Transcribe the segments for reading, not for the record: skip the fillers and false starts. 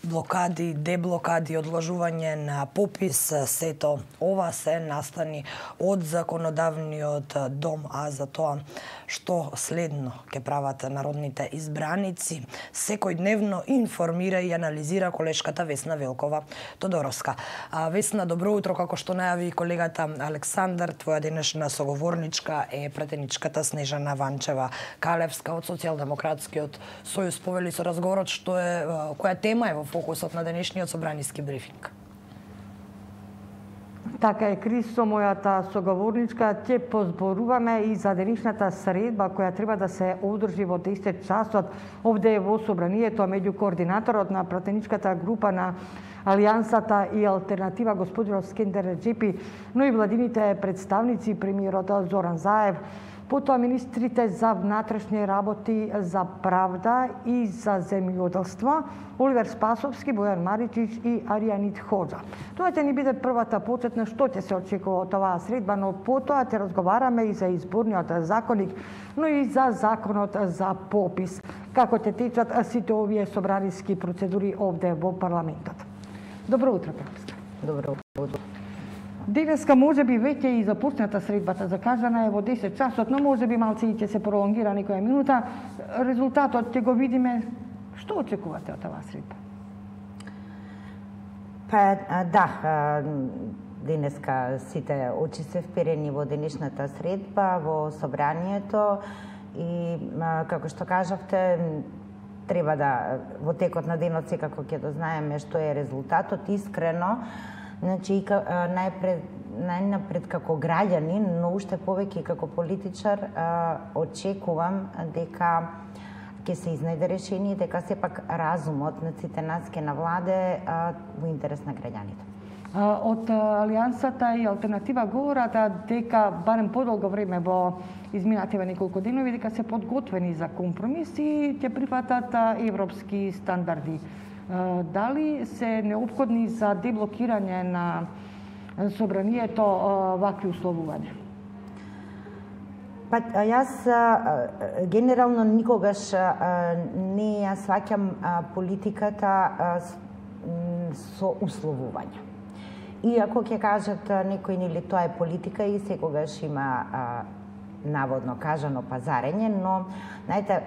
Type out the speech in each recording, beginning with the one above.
блокади, деблокади, одложување на попис, сето ова се настани од законодавниот дом, а за тоа што следно ќе прават народните избраници, секојдневно информира и анализира колешката Весна Велкова Тодоровска. Весна, добро утро, како што најави колегата Александар, твоја денешна соговорничка е пратеничката Снежана Ванчева-Калевска од Социјалдемократскиот сојуз. Повели со разговорот што е, која тема е во фокусот на денешниот собраниски брифинг. Така е, Крисо, мојата соговорничка, ќе позборуваме и за денешната средба која треба да се одржи во 10 часот овде во собранието меѓу координаторот на пратеничката група на Алијансата и Алтернатива господинот Скендер Реджепи, но и владините представници, премиерот Зоран Заев, потоа министрите за внатрешни работи, за правда и за земјоделство, Оливер Спасовски, Бојан Маричич и Аријанит Ходжа. Тоа ќе ни биде првата почетна што ќе се очекува од оваа средба, но потоа ќе разговараме и за изборниот законник, но и за законот за попис, како ќе течат сите овие собраниски процедури овде во парламентот. Добро утро, Капска. Добро утро. Денеска може би веќе и започната средбата, закажана е во 10 часот, но може би малце и ќе се пролонгира некоја минута. Резултатот ќе го видиме. Што очекувате од оваа средба? Денеска сите очи се вперени во денешната средба, во собранието и, како што кажавте, треба да во текот на денот секако ќе дознаеме што е резултатот. Искрено, значи, најнапред како граѓанин, но уште повеќе како политичар, очекувам дека ќе се изнајде решение, дека сепак разумот на сите нас ќе навладе во интерес на граѓаните. Од Алијансата и Алтернатива говорат дека барем подолго време во изминативе неколку денови дека се подготвени за компромис и ќе прифатат европски стандарди. Дали се неопходни за деблокирање на собранието вакви условувања? Јас генерално никогаш не ја сваќам политиката со условувања. Иако ќе кажат некои, нели, тоа е политика и секогаш има наводно кажано пазарење, но знаете,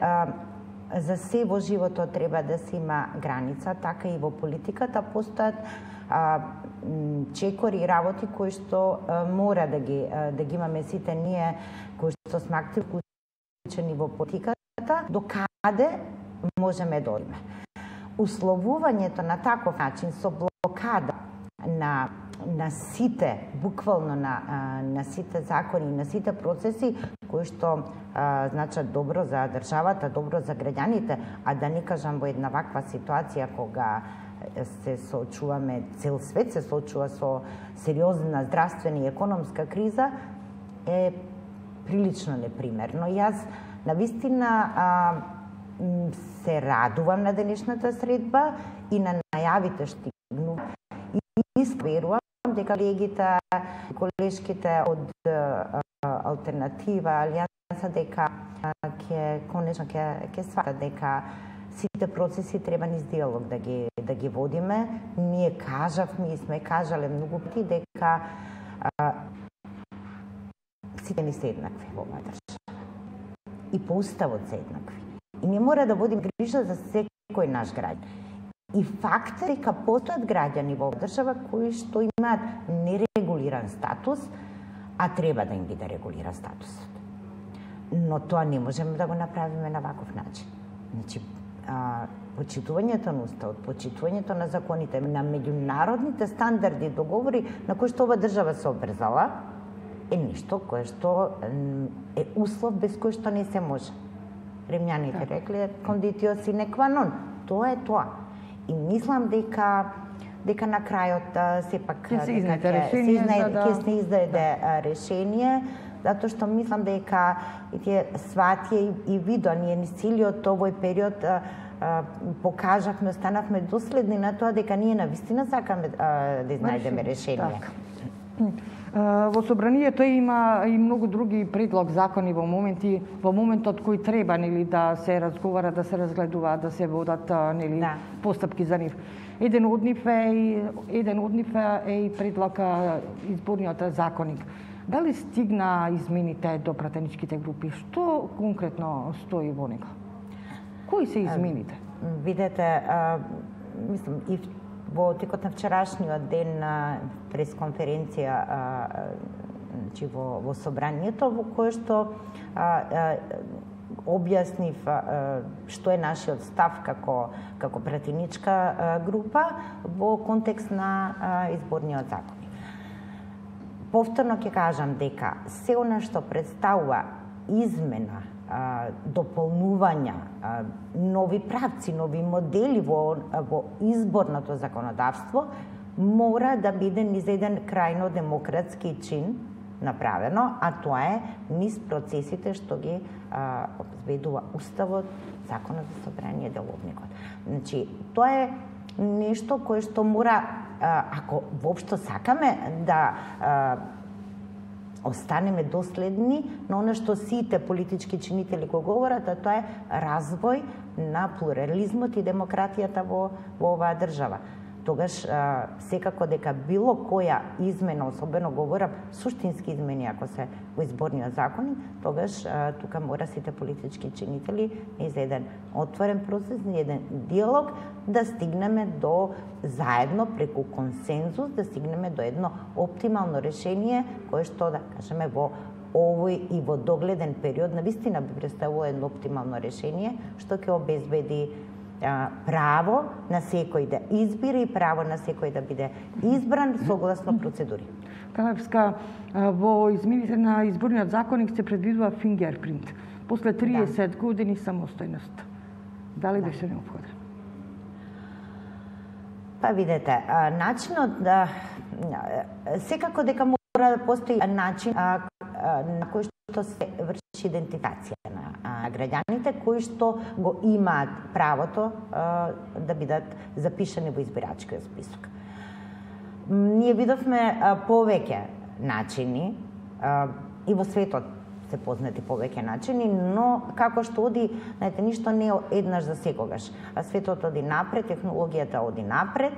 за се во животот треба да се има граница, така и во политиката постојат чекори и работи кои што мора да ги имаме сите ние кои што сме активно вклучени во политиката, до каде можеме да одиме. Условувањето на таков начин со блокада на сите, буквално на сите закони, на сите процеси кои што значат добро за државата, добро за граѓаните, а да не кажам во една ваква ситуација кога се соочуваме, цел свет се соочува со сериозна здравствена и економска криза, е прилично непримерно. Јас навистина се радувам на денешната средба и на најавите што стигну. И верувам дека колегите, колешките од Алтернатива, Алијанса, дека конечно ќе сватат дека сите процеси треба низ диалог да ги водиме. Ние кажавме и сме кажале многу пати дека сите ни се еднакви во оваа држава. И по уставот се еднакви. И ние мора да водим грижа за секој наш граѓан. И факт е дека постојат граѓани во држава кои што имаат нерегулиран статус, а треба да им биде регулиран статусот. Но тоа не можеме да го направиме на ваков начин. Значи, почитувањето на уставот, почитувањето на законите, на меѓународните стандарди, договори на кои што ова држава се обврзала, е нешто кое што е услов без кој што не се може. Римјаните рекле кондитио сине qua non. Тоа е тоа. И мислам дека на крајот сепак ќе се издаде решение, затоа што мислам дека тие сватија и видоа ние низ целиот овој период покажавме, станавме доследни на тоа дека ние навистина сакаме да изнајдеме решение. Во собранието има и многу други предлог закони во моментот кои треба нели да се разговара, да се разгледуваат, да се водат нели постапки за нив. Еден од нив е и предлог изборниот законник. Дали стигна измените до пратеничките групи? Што конкретно стои во него? Кои се измените? Видете, мислам, и во текот на вчерашниот ден на пресконференција во собранието, во кое што објаснив што е нашиот став како пратеничка група во контекст на изборниот закон. Повторно ќе кажам дека се она што представува измена, дополнувања, нови правци, нови модели во изборното законодавство мора да биде низ еден крајно демократски чин направено, а тоа е низ процесите што ги обезбедува Уставот, Законот за собрание, Деловникот. Значи, тоа е нешто кое што мора, ако воопшто сакаме да останеме доследни на оно што сите политички чинители го говорат, а тоа е развој на плурализмот и демократијата во оваа држава. Тогаш секако дека било која измена, особено говорам суштински измени ако се во изборниот закон, тогаш тука мора сите политички чинители низ еден отворен процес, низ еден диалог да стигнеме до заедно преку консензус, да стигнеме до едно оптимално решение кое што да кажеме во овој и во догледен период навистина би представувало едно оптимално решение што ќе обезбеди право на секој да избира и право на секој да биде избран согласно процедури. Калевска, во измените на изборниот законник се предвидува фингерпринт после 30 години самостојност. Дали беше неопходен? Па видете, начинот да секако дека мора да постои начин на кој што се врши идентификација на граѓаните кои што го имаат правото да бидат запишани во избирачкиот список. Ние видовме повеќе начини и во светот се познати повеќе начини, но како што оди, знаете, ништо не е еднаш за секогаш. Светот оди напред, технологијата оди напред.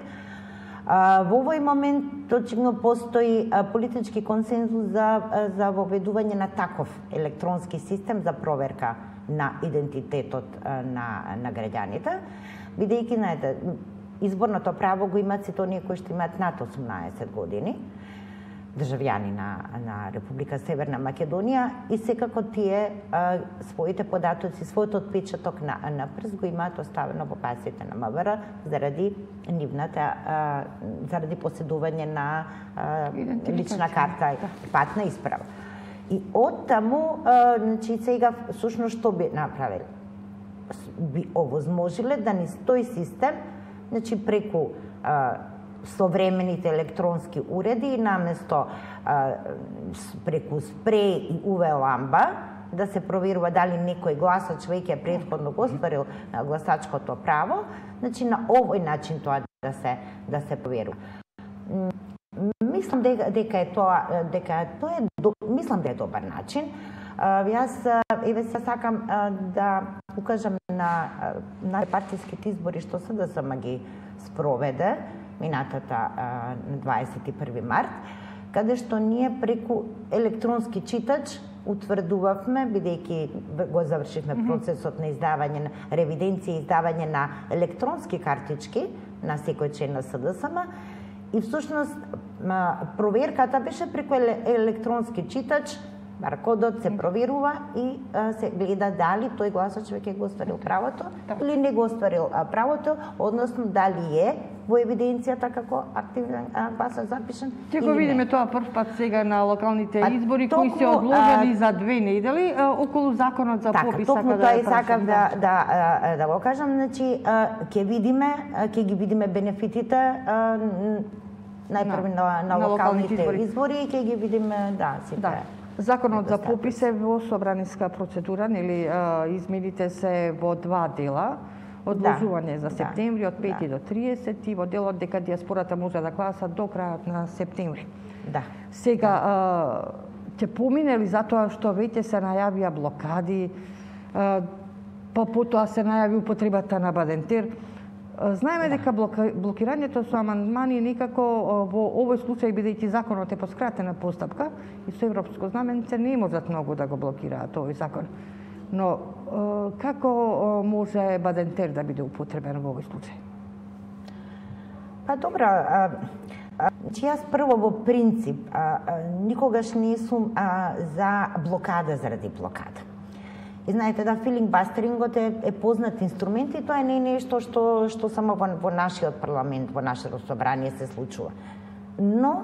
Во овој момент очигледно постои политички консензус за воведување на таков електронски систем за проверка на идентитетот на граѓаните, бидејќи, знаете, изборното право го имаат сите оние кои што имаат над 18 години, државјани на Република Северна Македонија, и секако тие своите податоци, својот отпечаток на прст го имаат оставено во базите на МВР заради нивната заради поседување на лична карта и патна исправа. И од таму, значи сега всушност што би направиле? Би овозможиле да низ тој систем, значи преку современите електронски уреди наместо преку спреј и UV ламба да се проверува дали некој гласач веќе претходно го остварил гласачкото право, значи на овој начин тоа да се проверува. Мислам дека е добар начин. Јас еве се сакам да укажам на партиските избори што СДСМ ги спроведе минатата на 21 март, каде што ние преку електронски читач утврдувавме, бидејќи го завршивме процесот на издавање на ревиденција и издавање на електронски картички на секој член на СДСМ, и всушност проверката беше преку електронски читач, баркодот се проверува и се гледа дали тој гласач веќе го остварил правото или не го остварил правото, односно дали е во евиденцијата како активен гласач запишан. Ќе го видиме тоа прв пат сега на локалните избори кои се одложени за 2 недели околу законот за попис. Токму тоа и сакам да го кажам, значи ќе ги видиме бенефитите најпрво на локалните избори и ќе ги видиме сите. Законот за попис е во собраниска процедура, нели измените се во 2 дела. одложување за септември од 5 до 30 и во делот дека дијаспората може да гласа до крајот на септември. Да. Сега ќе помине ли затоа што веќе се најавија блокади, па потоа се најави употребата на Бадентер. Знаеме дека блокирањето со амандмани некако во овој случај, бидејќи законот е по скратена постапка и со европско знаменце, не можат многу да го блокираат овој закон. Но како може Бадентер да биде употребен во овој случај? Па добро, јас прво во принцип никогаш не сум за блокада заради блокада. И знаете да филингбастерингот е познат инструмент и тоа не е нешто што само во нашиот парламент, во нашето собрание се случува. Но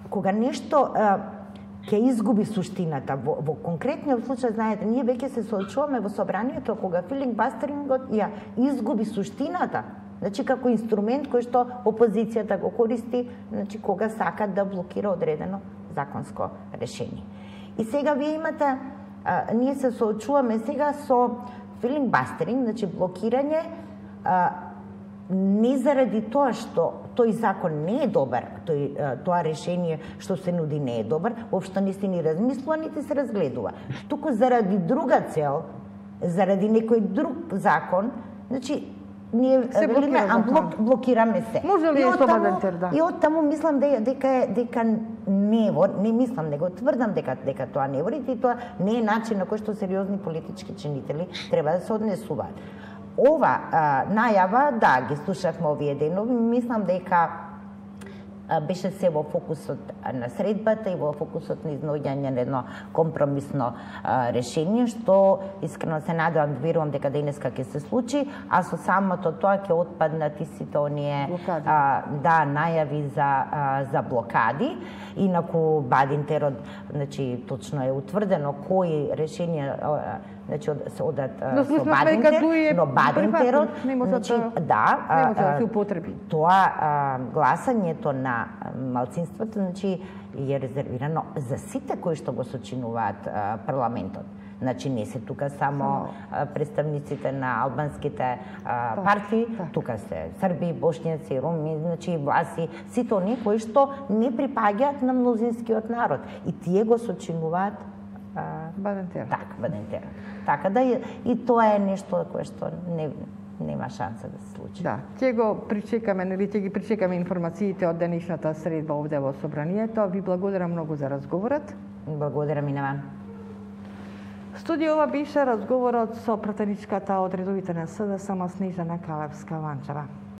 кога нешто ќе изгуби суштината, во конкретниот случај, знаете, ние веќе се соочуваме во собранието кога филингбастерингот ја изгуби суштината, значи како инструмент кој што опозицијата го користи, значи кога сака да блокира одредено законско решение. И сега вие имате ние се соочуваме сега со филингбастеринг, значи блокирање, не заради тоа што тој закон не е добар, тоа решение што се нуди не е добар, воопшто не се ни размислува, нити се разгледува. Туку заради друга цел, заради некој друг закон, значи ние велиме, блокираме се. Може ли со Бадентер, да? И оттаму мислам дека не мислам, него тврдам дека тоа не вори и тоа не е начин на кој што сериозни политички чинители треба да се однесуваат. Ова најава, да, ги слушавме овие денови, мислам дека беше се во фокусот на средбата и во фокусот на изнаоѓање на едно компромисно решение, што искрено се надевам, верувам дека денеска ќе се случи, а со самото тоа ќе отпаднат и сите оние најави за блокади. Инаку Бадентерот, значи точно е утврдено кои решенија значи одат со Бадентер, но Бадентерот, значи не може да се употреби. Тоа гласањето на малцинството, значи е резервирано за сите кои што го сочинуваат парламентот. Значи не се тука само представниците на албанските партии, тука се срби, бошњаци, роми, значи власи, сите оние кои што не припаѓаат на мнозинскиот народ и тие го сочинуваат Бадентер. Бадентер. Така да и тоа е нешто кое што нема шанса да се случи. Да, ќе го причекаме, нели ќе ги причекаме информациите од денешната средба овде во собранието. Ви благодарам многу за разговорот. Благодарам и на вам. Студиова беше разговорот со пратеничката од редовите на СДСМ Снежана Калевска-Ванчева.